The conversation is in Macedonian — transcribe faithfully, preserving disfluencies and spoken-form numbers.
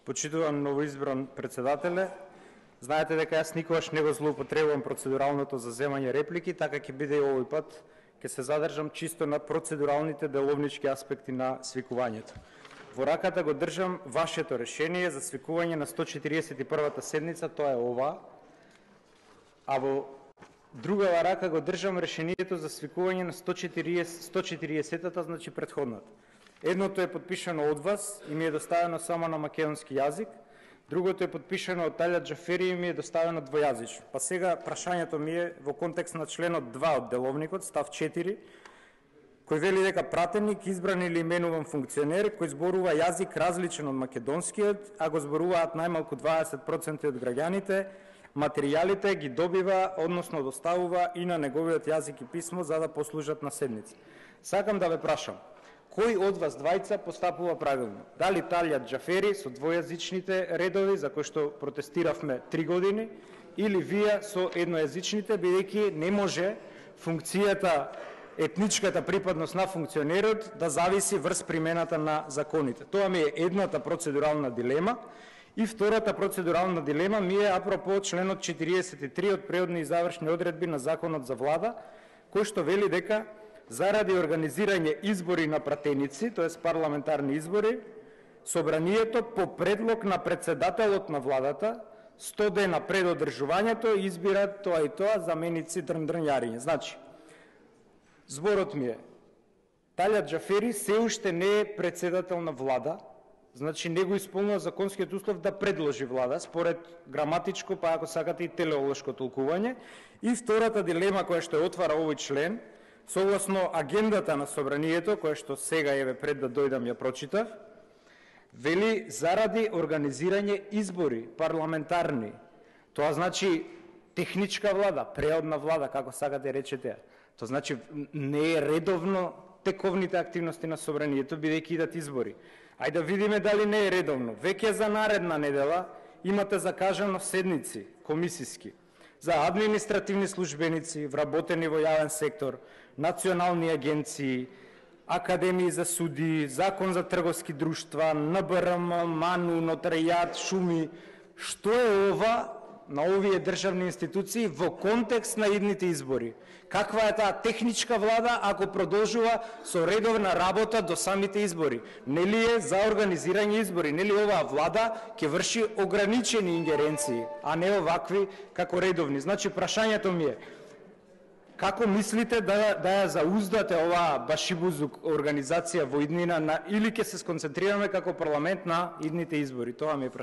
Почитуван новоизбран председателе, знаете дека јас никогаш не го злоупотребувам процедуралното за земање реплики, така ќе биде и овој пат, ќе се задржам чисто на процедуралните деловнички аспекти на свикувањето. Во раката го држам вашето решение за свикување на сто четиридесет и првата седница, тоа е ова, а во другава рака го држам решението за свикување на сто четиридесетата, значи претходната. Едното е подпишано од вас и ми е доставено само на македонски јазик, другото е подпишано од Талјат Џафери и ми е доставено двојазично. Па сега прашањето ми е во контекст на членот два од деловникот, став четири, кој вели дека пратеник, избран или именуван функционер, кој зборува јазик различен од македонскиот, а го зборуваат најмалку дваесет проценти од граѓаните, материјалите ги добива, односно доставува и на неговиот јазик и писмо за да послужат на седница. Сакам да ве прашам, кој од вас двајца постапува правилно? Дали Талјат Џафери со двојазичните редови, за кои што протестиравме три години, или вие со еднојазичните, бидејќи не може функцијата, етничката припадност на функционерот да зависи врз примената на законите. Тоа ми е едната процедурална дилема. И втората процедурална дилема ми е апропо членот четириесет и три од преодни и завршни одредби на Законот за влада, кој што вели дека заради организирање избори на пратеници, тоест парламентарни избори, собранието по предлог на председателот на владата сто дена пред одржувањето избира тоа и тоа заменици дрндрњариња. Значи, зборот ми е, Талјат Џафери се уште не е председател на влада, значи не го исполнува законскиот услов да предложи влада, според граматичко, па ако сакате и телеолошко толкување. И втората дилема која што отвара овој член, согласно агендата на собранието, која што сега еве пред да дојдам ја прочитав, вели заради организирање избори парламентарни. Тоа значи техничка влада, преодна влада, како сакате речете. Тоа значи не е редовно тековните активности на собранието, бидејќи идат избори. Ајде да видиме дали не е редовно. Веќе за наредна недела имате закажано седници комисиски за административни службеници, вработени во јавен сектор, национални агенции, академии за суди, закон за трговски друштва, Н Б Р М, МАНУ, нотаријат, шуми. Што е ова на овие државни институции во контекст на идните избори? Каква е таа техничка влада ако продолжува со редовна работа до самите избори? Нели е за организирање избори? Нели оваа влада ќе врши ограничени ингеренции, а не овакви како редовни? Значи, прашањето ми е, како мислите да, да ја зауздате оваа башибузук организација во иднина на, или ќе се сконцентрираме како парламент на идните избори? Тоа ми е прашањето.